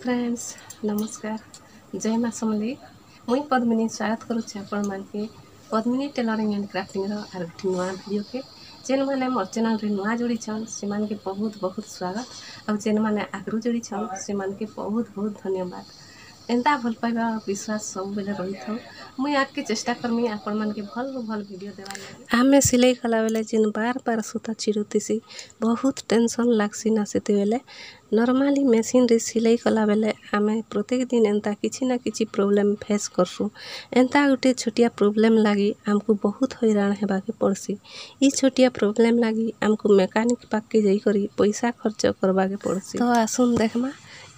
Friends, ନମସ୍କାର, ଜୟ ମା ସମଲେଇ। ମୁଇଁ ପଦ୍ମିନୀ ସ୍ୱାଗତ କରୁଛି ଆପଣମାନକେ ପଦ୍ମିନୀ ଟେଲରିଂ ଆଣ୍ଡ କ୍ରାଫ୍ଟିଂର ଆର୍ ଗୋଟେ ନୂଆ ଭିଡ଼ିଓକେ। ଯେନ୍ମାନେ ମୋର୍ ଚ୍ୟାନେଲ୍ରେ ନୂଆ ଯୋଡ଼ିଛନ୍, ସେମାନକେ ବହୁତ ବହୁତ ସ୍ୱାଗତ ଆଉ ଯେନ୍ମାନେ ଆଗରୁ ଯୋଡ଼ିଛନ୍, ସେମାନକେ ବହୁତ ବହୁତ ଧନ୍ୟବାଦ। ଏନ୍ତା ଭଲ ପାଇବା ଆଉ ବିଶ୍ୱାସ ସବୁବେଲେ ରହିଥାଉ। ମୁଇଁ ଆଗକେ ଚେଷ୍ଟା କରମି ଆପଣମାନକେ ଭଲ ଭଲ ଭିଡ଼ିଓ ଦେବାର୍ ଲାଗି। ଆମେ ସିଲେଇ କଲାବେଲେ ଯେନ୍ ବାର ବାର ସୂତା ଛିଡ଼ୁଥିସି, ବହୁତ ଟେନସନ୍ ଲାଗ୍ସି ନା। ସେତେବେଲେ ନର୍ମାଲି ମେସିନ୍ରେ ସିଲେଇ କଲାବେଲେ ଆମେ ପ୍ରତ୍ୟେକ ଦିନ ଏନ୍ତା କିଛି ନା କିଛି ପ୍ରୋବ୍ଲେମ୍ ଫେସ୍ କରସୁଁ। ଏନ୍ତା ଗୁଟେ ଛୋଟିଆ ପ୍ରୋବ୍ଲେମ୍ ଲାଗି ଆମକୁ ବହୁତ ହଇରାଣ ହେବାକେ ପଡ଼୍ସି। ଇ ଛୋଟିଆ ପ୍ରୋବ୍ଲେମ୍ ଲାଗି ଆମକୁ ମେକାନିକ୍ ପାଖ୍କେ ଯାଇକରି ପଇସା ଖର୍ଚ୍ଚ କରବାକେ ପଡ଼୍ସି। ତ ଆସୁନ୍ ଦେଖ୍ମା,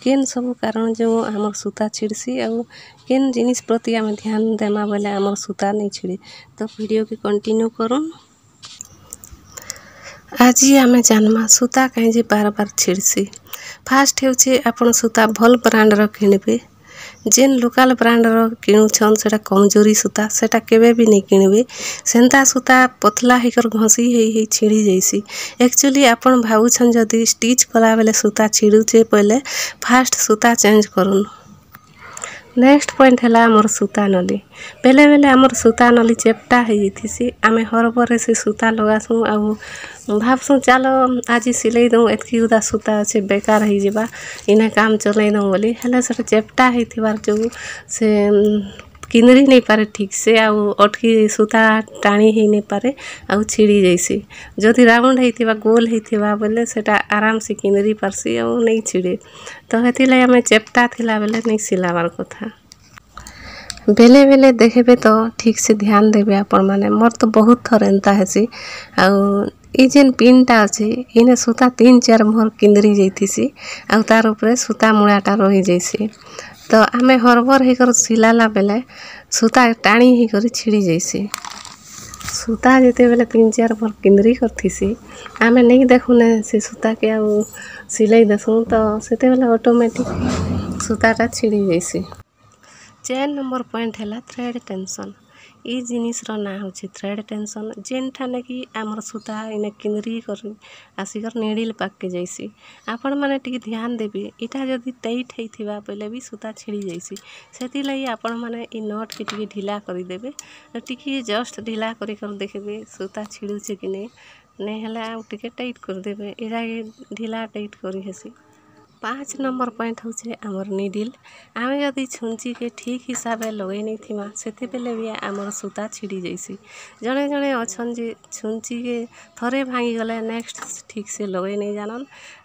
କେନ୍ ସବୁ କାରଣ ଯୋଗୁଁ ଆମର୍ ସୂତା ଛିଡ଼୍ସି ଆଉ କେନ୍ ଜିନିଷ୍ ପ୍ରତି ଆମେ ଧ୍ୟାନ ଦେମା ବୋଇଲେ ଆମର୍ ସୂତା ନେଇ ଛିଡ଼େ। ତ ଭିଡ଼ିଓକେ କଣ୍ଟିନ୍ୟୁ କରୁନ୍। ଆଜି ଆମେ ଜାନ୍ମା, ସୂତା କାଇଁ ଯେ ବାର ବାର ଛିଡ଼୍ସି। ଫାର୍ଷ୍ଟ ହେଉଛି, ଆପଣ ସୂତା ଭଲ୍ ବ୍ରାଣ୍ଡର କିଣିବେ। ଯେନ୍ ଲୋକାଲ୍ ବ୍ରାଣ୍ଡର କିଣୁଛନ୍, ସେଟା କମଜୋରି ସୂତା, ସେଟା କେବେ ବି ନେଇ କିଣିବେ। ସେନ୍ତା ସୂତା ପତଲା ହେଇକରି ଘଷି ହେଇ ହେଇ ଛିଡ଼ି ଯାଇସି। ଆକ୍ଚୁଆଲି ଆପଣ ଭାବୁଛନ୍ ଯଦି ଷ୍ଟିଚ୍ କଲାବେଲେ ସୂତା ଛିଡ଼ୁଛେ ବୋଇଲେ, ଫାର୍ଷ୍ଟ ସୂତା ଚେଞ୍ଜ କରୁନ୍। ନେକ୍ସଟ ପଏଣ୍ଟ ହେଲା ଆମର ସୂତା ନଲି। ବେଲେ ବେଲେ ଆମର ସୂତା ନଲି ଚେପ୍ଟା ହେଇଯାଇଥିସି। ଆମେ ହରବରରେ ସେ ସୂତା ଲଗାସୁଁ ଆଉ ଭାବସୁଁ, ଚାଲ ଆଜି ସିଲେଇ ଦଉଁ, ଏତ୍କି ଗୁଦା ସୂତା ଅଛେ, ବେକାର ହେଇଯିବା, ଇନେ କାମ ଚଲେଇ ଦଉଁ ବୋଲି। ହେଲେ ସେଟା ଚେପ୍ଟା ହେଇଥିବାର ଯୋଗୁଁ ସେ କିନ୍ଦରି ନେଇ ପାରେ ଠିକ୍ ସେ ଆଉ ଅଟକି ସୂତା ଟାଣି ହେଇ ନେଇ ପାରେ ଆଉ ଛିଡ଼ି ଯାଇସି। ଯଦି ରାଉଣ୍ଡ ହେଇଥିବା, ଗୋଲ ହେଇଥିବା ବୋଇଲେ ସେଟା ଆରାମସେ କିନ୍ଦରି ପାରସି ଆଉ ନେଇ ଛିଡ଼େ। ତ ହେଥିର୍ଲାଗି ଆମେ ଚେପ୍ଟା ଥିଲା ବେଲେ ନେଇ ସିଲାବାର୍ କଥା। ବେଲେ ବେଲେ ଦେଖ୍ବେ ତ ଠିକ୍ ସେ ଧ୍ୟାନ ଦେବେ ଆପଣମାନେ। ମୋର୍ ତ ବହୁତ ଥର ଏନ୍ତା ହେସି। ଆଉ ଇ ଯେନ୍ ପିନ୍ଟା ଅଛି, ଇନେ ସୂତା ତିନ୍ ଚାର୍ ଭର୍ କିନ୍ଦରି ଯାଇଥିସି ଆଉ ତାର୍ ଉପରେ ସୂତା ମୂଳାଟା ରହିଯାଇସି। ତ ଆମେ ହରବର ହେଇକରି ସିଲାଲା ବେଲେ ସୂତା ଟାଣି ହେଇକରି ଛିଡ଼ି ଯାଇସି। ସୂତା ଯେତେବେଲେ ତିନ୍ ଚାର୍ ଭର୍ କିନ୍ଦରି କରିଥିସି, ଆମେ ନେଇ ଦେଖୁନେ ସେ ସୂତାକେ ଆଉ ସିଲେଇ ଦେସୁଁ, ତ ସେତେବେଲେ ଅଟୋମେଟିକ୍ ସୂତାଟା ଛିଡ଼ି ଯାଇସି। 4 ନମ୍ବର ପଏଣ୍ଟ ହେଲା ଥ୍ରେଡ୍ ଟେନସନ୍। ଇ ଜିନିଷ୍ର ନାଁ ହେଉଛି ଥ୍ରେଡ୍ ଟେନସନ୍, ଯେନ୍ଠାନେ କି ଆମର୍ ସୂତା ଇନେ କିନ୍ଦରି କରି ଆସିକରି ନିଡ଼ିଲ୍ ପାଖ୍କେ ଯାଇସି। ଆପଣମାନେ ଟିକେ ଧ୍ୟାନ ଦେବେ। ଇଟା ଯଦି ଟାଇଟ୍ ହେଇଥିବା ବେଲେ ବି ସୂତା ଛିଡ଼ି ଯାଇସି। ସେଥିର୍ଲାଗି ଆପଣମାନେ ଇ ନଟ୍କେ ଟିକେ ଢିଲା କରିଦେବେ। ଟିକେ ଜଷ୍ଟ ଢିଲା କରି କରି ଦେଖିବେ, ସୂତା ଛିଡ଼ୁଛେ କି ନେଇ। ନେଇ ହେଲେ ଆଉ ଟିକେ ଟାଇଟ୍ କରିଦେବେ। ଇଟାକେ ଢିଲା ଟାଇଟ୍ କରି ହେସି। 5 ନମ୍ବର ପଏଣ୍ଟ ହଉଛେ ଆମର୍ ନିଡ଼ିଲ୍। ଆମେ ଯଦି ଛୁଞ୍ଚିକେ ଠିକ୍ ହିସାବେ ଲଗେଇ ନେଇଥିମା, ସେତେବେଲେ ବି ଆମର୍ ସୂତା ଛିଡ଼ି ଯାଇସି। ଜଣେ ଜଣେ ଅଛନ୍ ଯେ ଛୁଞ୍ଚିକେ ଥରେ ଭାଙ୍ଗିଗଲେ ନେକ୍ସଟ ଠିକ୍ ସେ ଲଗେଇ ନେଇ ଜାନନ୍।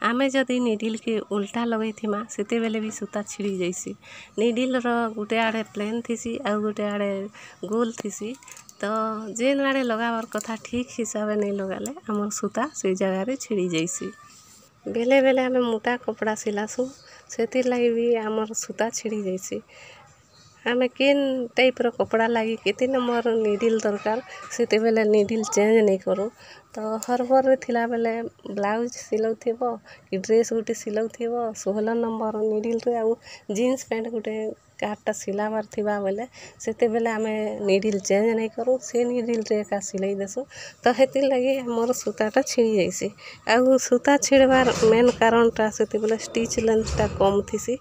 ଆମେ ଯଦି ନିଡ଼ିଲ୍କେ ଉଲ୍ଟା ଲଗେଇଥିମା, ସେତେବେଲେ ବି ସୂତା ଛିଡ଼ି ଯାଇସି। ନିଡ଼ିଲ୍ର ଗୁଟେ ଆଡ଼େ ପ୍ଲେନ୍ ଥିସି ଆଉ ଗୁଟେ ଆଡ଼େ ଗୋଲ୍ ଥିସି। ତ ଯେନ୍ ଆଡ଼େ ଲଗାବାର୍ କଥା, ଠିକ୍ ହିସାବେ ନେଇ ଲଗାଲେ ଆମର୍ ସୂତା ସେଇ ଜାଗାରେ ଛିଡ଼ି ଯାଇସି। ବେଲେ ବେଲେ ଆମେ ମୋଟା କପଡ଼ା ସିଲାସୁଁ, ସେଥିର୍ଲାଗି ବି ଆମର୍ ସୂତା ଛିଡ଼ି ଯାଇସି। ଆମେ କେନ୍ ଟାଇପ୍ର କପଡ଼ା ଲାଗି କେତେ ନମ୍ବର ନିଡ଼ିଲ୍ ଦରକାର, ସେତେବେଲେ ନିଡ଼ିଲ୍ ଚେଞ୍ଜ ନେଇ କରୁ। ତ ହରବରରେ ଥିଲାବେଲେ ବ୍ଲାଉଜ୍ ସିଲଉଥିବ କି ଡ୍ରେସ୍ ଗୁଟେ ସିଲଉଥିବ 16 ନମ୍ବର ନିଡ଼ିଲ୍ରେ ଆଉ ଜିନ୍ସ ପ୍ୟାଣ୍ଟ ଗୁଟେ କାହାରଟା ସିଲାବାର୍ ଥିବା ବେଲେ, ସେତେବେଲେ ଆମେ ନିଡ଼ିଲ୍ ଚେଞ୍ଜ ନାଇଁ କରୁ, ସେ ନିଡ଼ିଲ୍ରେ ଏକା ସିଲେଇ ଦେସୁଁ। ତ ହେଥିର୍ଲାଗି ଆମର୍ ସୂତାଟା ଛିଡ଼ି ଯାଇସି। ଆଉ ସୂତା ଛିଡ଼ବାର୍ ମେନ୍ କାରଣଟା, ସେତେବେଲେ ଷ୍ଟିଚ୍ ଲେନ୍ଥଟା କମ୍ ଥିସି।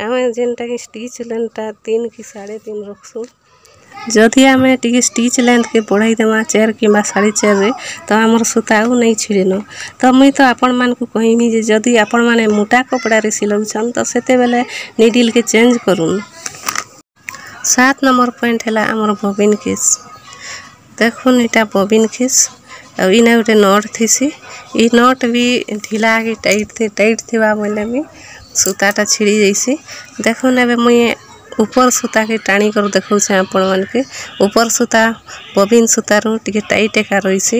ଆମେ ଯେନ୍ଟାକି ଷ୍ଟିଚ୍ ଲେନ୍ଥଟା 3 କି 3.5 ରଖ୍ସୁଁ, ଯଦି ଆମେ ଟିକେ ଷ୍ଟିଚ୍ ଲେନ୍ଥକେ ବଢ଼େଇ ଦେମା 4 କିମ୍ବା 4.5ରେ, ତ ଆମର୍ ସୂତା ଆଉ ନେଇ ଛିଡ଼େନ। ତ ମୁଇଁ ତ ଆପଣମାନଙ୍କୁ କହିମି ଯେ ଯଦି ଆପଣମାନେ ମୋଟା କପଡ଼ାରେ ସିଲଉଛନ୍, ତ ସେତେବେଲେ ନିଡ଼ିଲ୍କେ ଚେଞ୍ଜ କରୁନ୍। 7 ନମ୍ବର ପଏଣ୍ଟ ହେଲା ଆମର ବବିନ୍ କେସ୍। ଦେଖୁନ୍, ଇଟା ବବିନ୍ କେସ୍ ଆଉ ଇନେ ଗୋଟେ not ଥିସି। ଇ not ବି ଢିଲା କି ଟାଇଟ୍ ଟାଇଟ୍ ଥିବା ବୋଇଲେ ବି ସୂତାଟା ଛିଡ଼ି ଯାଇସି। ଦେଖୁନ୍, ଏବେ ମୁଇଁ ଉପର ସୂତାକେ ଟାଣି କରି ଦେଖଉଛେ ଆପଣମାନକେ। ଉପର ସୂତା ବବିନ୍ ସୂତାରୁ ଟିକେ ଟାଇଟ୍ ଏକା ରହିସି।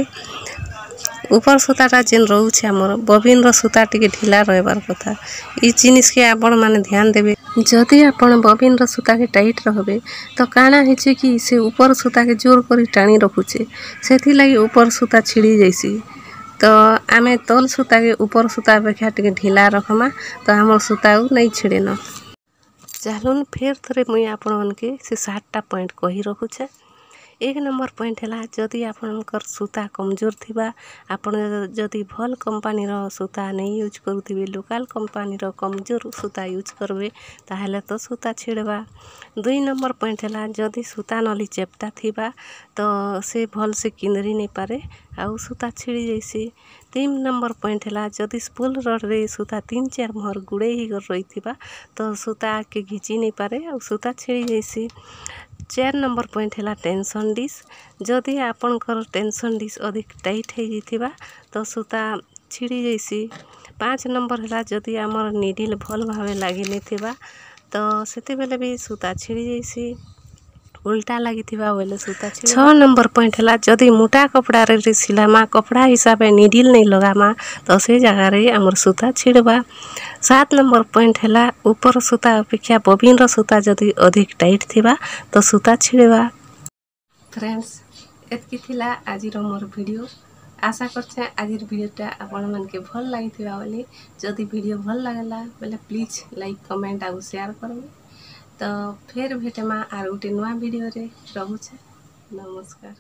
ଉପର ସୂତାଟା ଯେନ୍ ରହୁଛେ ଆମର, ବବିନ୍ର ସୂତା ଟିକେ ଢିଲା ରହିବାର କଥା। ଇ ଜିନିଷ୍କେ ଆପଣମାନେ ଧ୍ୟାନ ଦେବେ। ଯଦି ଆପଣ ବବିନ୍ର ସୂତାକେ ଟାଇଟ୍ ରଖବେ, ତ କାଣା ହେଇଛେ କି ସେ ଉପର ସୂତାକେ ଜୋର କରି ଟାଣି ରଖୁଛେ, ସେଥିର୍ଲାଗି ଉପର ସୂତା ଛିଡ଼ି ଯାଇସି। ତ ଆମେ ତଲ୍ ସୂତାକେ ଉପର ସୂତା ଅପେକ୍ଷା ଟିକେ ଢିଲା ରଖ୍ମା, ତ ଆମର୍ ସୂତା ଆଉ ନାଇଁ ଛିଡ଼େନ। ଚାଲୁନ୍, ଫେର୍ ଥରେ ମୁଇଁ ଆପଣମାନକେ ସେ 7ଟା ପଏଣ୍ଟ କହି ରଖୁଛେ। 1 ନମ୍ବର ପଏଣ୍ଟ ହେଲା, ଯଦି ଆପଣଙ୍କର ସୂତା କମଜୋର ଥିବା, ଆପଣ ଯଦି ଭଲ୍ କମ୍ପାନୀର ସୂତା ନେଇ ୟୁଜ୍ କରୁଥିବେ, ଲୋକାଲ୍ କମ୍ପାନୀର କମଜୋର ସୂତା ୟୁଜ୍ କରିବେ, ତାହେଲେ ତ ସୂତା ଛିଡ଼ବା। 2 ନମ୍ବର ପଏଣ୍ଟ ହେଲା, ଯଦି ସୂତା ନଲି ଚେପ୍ଟା ଥିବା ତ ସେ ଭଲସେ କିନ୍ଦରି ନେଇପାରେ ଆଉ ସୂତା ଛିଡ଼ି ଯାଇସି। 3 ନମ୍ବର ପଏଣ୍ଟ ହେଲା, ଯଦି ସ୍ପୁଲ୍ ରଡ଼୍ରେ ସୂତା 3 4 ମୋହର ଗୁଡ଼େଇ ହେଇକରି ରହିଥିବା ତ ସୂତା ଆଗକେ ଘିଚି ନେଇପାରେ ଆଉ ସୂତା ଛିଡ଼ି ଯାଇସି। 4 ନମ୍ବର ପଏଣ୍ଟ ହେଲା ଟେନସନ୍ ଡିସ୍। ଯଦି ଆପଣଙ୍କର ଟେନସନ୍ ଡିସ୍ ଅଧିକ ଟାଇଟ୍ ହେଇଯାଇଥିବା ତ ସୂତା ଛିଡ଼ି ଯାଇସି। 5 ନମ୍ବର ହେଲା, ଯଦି ଆମର ନିଡ଼ିଲ୍ ଭଲ୍ ଭାବେ ଲାଗି ନେଇଥିବା ତ ସେତେବେଲେ ବି ସୂତା ଛିଡ଼ି ଯାଇସି, ଉଲ୍ଟା ଲାଗିଥିବା ବୋଇଲେ ସୂତା। 6 ନମ୍ବର ପଏଣ୍ଟ ହେଲା, ଯଦି ମୋଟା କପଡ଼ାରେ ସିଲାମା, କପଡ଼ା ହିସାବେ ନିଡ଼ିଲ୍ ନେଇ ଲଗାମା ତ ସେ ଜାଗାରେ ଆମର ସୂତା ଛିଡ଼ବା। 7 ନମ୍ବର ପଏଣ୍ଟ ହେଲା, ଉପର ସୂତା ଅପେକ୍ଷା ବବିନ୍ର ସୂତା ଯଦି ଅଧିକ ଟାଇଟ୍ ଥିବା ତ ସୂତା ଛିଡ଼ବା। ଫ୍ରେଣ୍ଡସ୍, ଏତ୍କି ଥିଲା ଆଜିର ମୋର ଭିଡ଼ିଓ। ଆଶା କରୁଛେଁ ଆଜିର ଭିଡ଼ିଓଟା ଆପଣମାନକେ ଭଲ୍ ଲାଗିଥିବା ବୋଲି। ଯଦି ଭିଡ଼ିଓ ଭଲ୍ ଲାଗଲା ବେଲେ ପ୍ଲିଜ୍ ଲାଇକ୍, କମେଣ୍ଟ ଆଉ ସେୟାର କରିବେ। ତ ଫେର୍ ଭେଟମା ଆର୍ ଗୋଟେ ନୂଆ ଭିଡ଼ିଓରେ। ରହୁଛେ, ନମସ୍କାର।